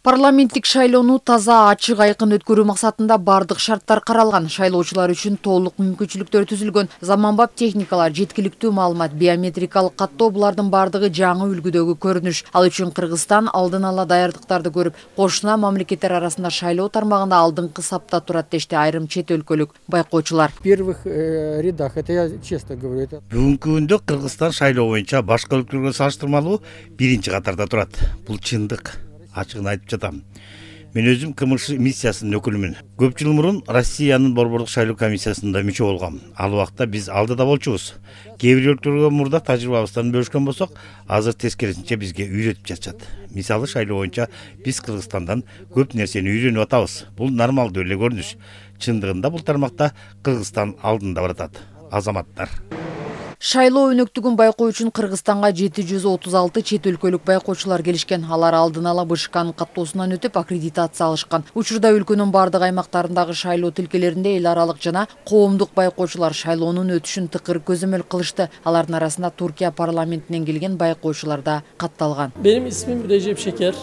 Парламенттик шайлоону таза, ачык, айкын өткөрүү максатында бардык шарттар каралган. Шайлоочулар үчүн толук мүмкүнчүлүктөр түзүлгөн. Заманбап техникалар, жеткиликтүү маалымат, биометрикалык каттоо — булардын бардыгы жаңы үлгүдөгү көрүнүш. Ал үчүн Кыргызстан алдын ала даярдыктарды көрүп, кошуна мамлекеттер арасында шайлоо тармагында алдыңкы сапта турат дешти айрым чет өлкөлүк байкоочулар. В первых рядах, это я честно говорю. Бүгүнкү күндө Кыргызстан шайлоо боюнча башка өлкөлөргө салыштырмалуу биринчи катарда турат. Бул чындык. Ачыгын айтып жатам. Мен өзүм КМШ миссиясынын өкүлүмүн. Көп жыл мурун Россиянын борбордук шайлоо комиссиясында мүчө болгом. Ал убакта биз алдыда болчубуз. Кээ бир өлкөлөргө мурда тажрыйбабыздан бөлүшкөн болсок, азыр тескерисинче бизге үйрөтүп жатышат. Мисалы, шайлоо боюнча биз Кыргызстандан көп нерсени үйрөнүп атабыз. Бул нормалдуу эле көрүнүш. Чындыгында бул тармакта Кыргызстан алдында баратат. Азаматтар. Шайлоо өнөктүгүн байкоо үчүн Кыргызстанга 736 чет өлкөлүк байкоочулар келишкен. Алар алдын ала БШКнын каттоосунан өтүп аккредитация алышкан. Учурда өлкөнүн бардык аймактарындагы шайлоо тилкелеринде эл аралык жана коомдук байкоочулар шайлоонун өтүшүн тыкыр көзөмөл кылышты. Алардын арасында Туркия парламентинен келген байкоочулар да катталган. Benim ismim Recep Şeker.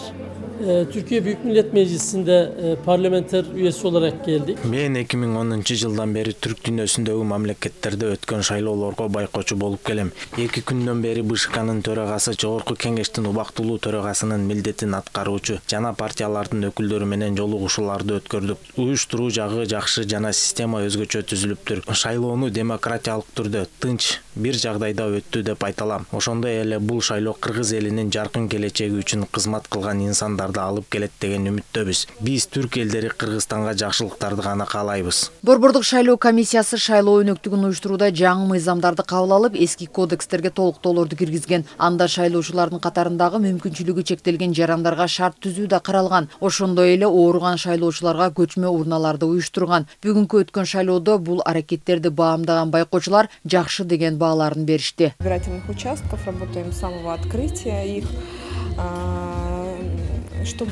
Türkiye Büyük Millet Meclisi'nde parlamenter üyesi olarak geldik. Men 2010 жылдан бери түрк дүйнөсүндөгү мамлекеттерде өткөн шайлоолорго байкоочу болуп келем. 2 күндөн бери БШКнын төрагасы, Жогорку Кеңештин убактылуу төрагасынын милдетин аткаруучу жана партиялардын өкүлдөрү менен жолугушууларды өткөрдүк. Уюштуруу жагы жакшы жана система өзгөчө түзүлүптүр. Шайлоону демократиялык түрдө, тынч, бир жагдайда өттү деп айта алам. Ошондой эле бул шайлоо Кыргыз элинин жаркын келечеги үчүн кызмат кылган инсандарды алып келет деген үмүттөбүз. Биз түрк элдери Кыргызстанга жакшылыктарды гана каалайбыз. Борбордук шайлоо комиссиясы шайлоо өнөктүгүн уюштурууда жаңы мыйзамдарды кабыл алып, эски кодекстерге толуктоолорду киргизген. Анда шайлоочулардын катарындагы мүмкүнчүлүгү чектелген жарандарга шарт түзүү да каралган. Ошондой эле ооруган шайлоочуларга көчмө урналарды уюштурган. Бүгүнкү өткөн шайлоодо бул аракеттерди баамдаган байкоочулар жакшы деген бааларын беришти. Избирательных участков работаем с самого открытия их.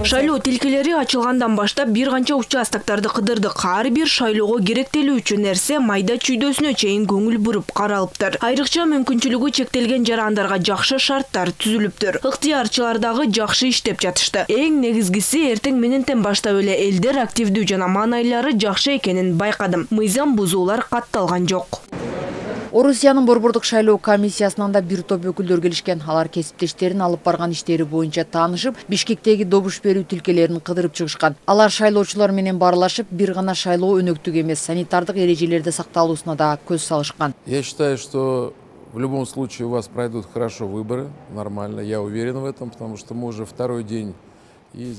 Шайлоо тилкелери ачылгандан баштап бир канча участокторду кыдырдык. Ар бир шайлоого керектелүүчү нерсе майда чүйдөсүнө чейин көңүл буруп каралыптыр. Айрыкча мүмкүнчүлүгү чектелген жарандарга жакшы шарттар түзүлүптүр. Ыктыярчылар дагы жакшы иштеп жатышты. Эң негизгиси, эртең мененден баштап эле элдер активдүү жана маанайлары жакшы экенин байкадым. Мыйзам бузуулар катталган жок. Орусиянын борбордук шайлоо комиссиясынан да бир топ өкүлдөр келишкен. Алар кесиптештерин алып барган иштери боюнча таанышып, Бишкектеги добуш берүү тилкелерин кыдырып чыгышкан. Алар шайлоочулар менен баарлашып, бир гана шайлоо өнөктүгү эмес, санитардык эрежелерди сакталуусуна да көз салышкан. Я считаю, что в любом случае у вас пройдут хорошо выборы, нормально, я уверен в этом, потому что мы уже второй день.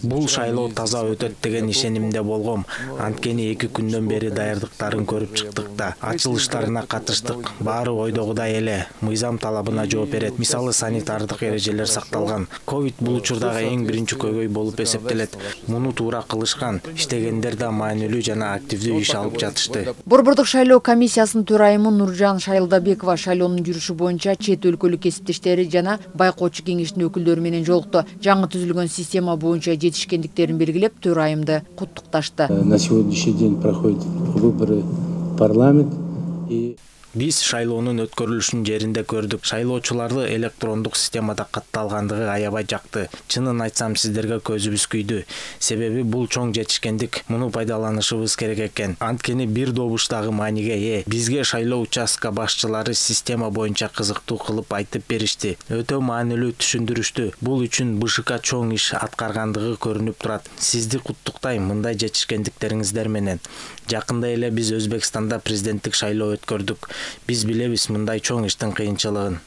Бул шайлоо таза өтөт деген ишенимде болгом. Анткени 2 күндөн бери даярдыктарын көрүп чыктык да. Ачылыштарына катыштык. Баары ойдогудай эле. Мыйзам талабына жооп берет. Мисалы, санитардык эрежелер сакталган. Ковид бул учурдагы эң биринчи көйгөй болуп эсептелет. Муну туура кылышкан. Иштегендер да маанилүү жана активдүү иш алып жатышты. Борбордук шайлоо комиссиясынын төрайымы Нуржан Шайлдабекова шайлоонун жүрүшү боюнча чет өлкөлүк кесиптештери жана байкоочу кеңештин өкүлдөрү менен жолукту. Жаңы түзүлгөн система боюнча жетишкендиктерин белгилеп, төрайымды куттукташты. На сегодняшний день проходят выборы в парламент. Биз шайлоонун өткөрүлүшүн жеринде көрдүк. Шайлоочуларды электрондук системада катталгандыгы аябай жакты. Чынын айтсам, сиздерге көзүбүз күйдү. Себеби бул чоң жетишкендик. Муну пайдаланышыбыз керек экен. Анткени бир добуштагы мааниге ээ. Бизге шайлоо участка башчылары система боюнча кызыктуу кылып айтып беришти. Өтө маанилүү түшүндүрүштү. Бул үчүн БШК чоң иш аткаргандыгы көрүнүп турат. Сизди куттуктайм мындай жетишкендиктериңиздер менен. Жакында эле биз Өзбекстанда президенттик шайлоо өткөрдүк. Биз билебиз мындай чоң иштин кыйынчылыгын.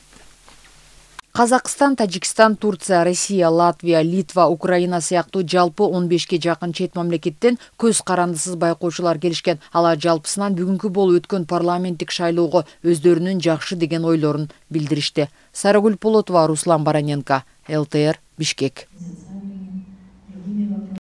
Казакстан, Тажикстан, Турция, Россия, Латвия, Литва, Украина сыяктуу жалпы 15ке жакын чет мамлекеттен көз карандысыз байкоочулар келишкен. Алар жалпысынан бүгүнкү болуп өткөн парламенттик шайлоого өздөрүнүн жакшы деген ойлорун билдиришти. Сарыгүл Полотова, Руслан Бараненко, ЛТР, Бишкек.